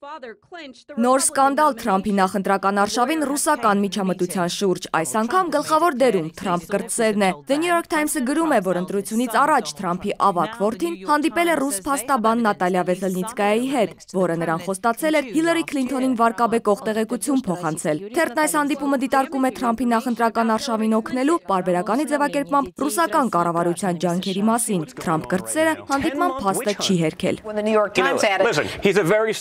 Նոր սկանդալ Թրամփի նախընտրական արշավին ռուսական միջամտության շուրջ, այս անգամ գլխավոր դերում Թրամփ կրտսերն է։ The New York Times-ը գրում է, որ ընտրությունից առաջ Թրամփի ավագ որդին հանդիպել է ռուս փաստաբան Նատալիա Վեսելնիցկայայի հետ, որը նրան խոստացել էր Հիլարի Քլինթոնին վարկաբեկող տեղեկություն փոխանցել։ Թերթն այս հանդիպումը դիտարկում է Թրամփի նախընտրական արշավին օգնելու պարբերականի ձևակերպմամբ ռուսական կառավարության ջանքերի մասին։ Թրամփ կրտսերը հանդիպման փաստը չի հերքել։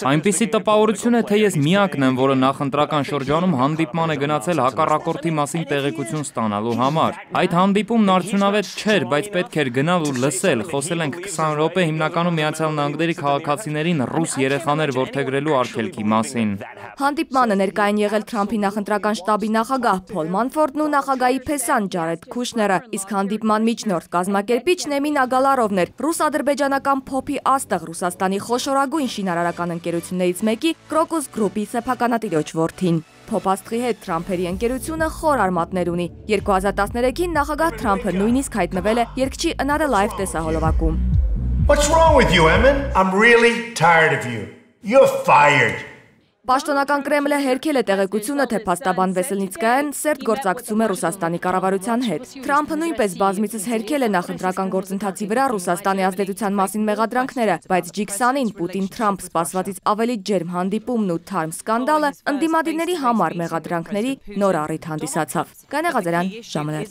Այնպիսի տպավորություն է, թե ես միակն եմ, որը նախընտրական շրջանում հանդիպման է գնացել հակառակորդի մասին տեղեկություն ստանալու համար։ Այդ հանդիպումն արդյունավետ չէր, բայց պետք էր գնալ ու լսել։ Խոսել ենք 20 րոպե հիմնականում Միացյալ Նահանգների քաղաքացիներին ռուս երեխաներ որդեգրելու արգելքի մասին։ Հանդիպմանը ներկային եղել Թրամփի նախընտրական շտաբի նախագահ Փոլ Մանֆորդն ու նախագահի փեսան Ջարեդ Քուշները, իսկ հանդիպման միջնորդ կազմակերպիչ Նեմին Ագալարովն էր, ռուս-ադրբեջանական փոփի աստղ Ռուսաստանի խոշորագույն շինարարական ընկերություններից մեկի Crocus Group-ի սեփականատիրոջ որդին։ Փոփաստղի հետ Թրամփերի ընկերությունը խոր արմատներ ունի։ 2013-ին նախագահ Թրամփը նույնիսկ հայտնվել է երգչի Another Life տեսահոլովակում։ What's wrong with you, Emin? I'm really tired of you. You're fired. Պաշտոնական Կրեմլը հերքել է տեղեկությունը, թե փաստաբան Վեսելնիցկայան սերտ գործակցում է Ռուսաստանի կառավարության հետ։ Թրամփը նույնպես բազմիցս հերքել է նախընտրական գործընթացի վրա Ռուսաստանի ազդեցության մասին մեղադրանքները, բայց G20-ին Պուտին-Թրամփ սպասվածից ավելի ջերմ հանդիպումն ու թարմ սկանդալը ընդդիմադիրների համար մեղադրանքների նոր առիթ հանդիսացավ։ Կանե Ղազարյան, ժամանակ։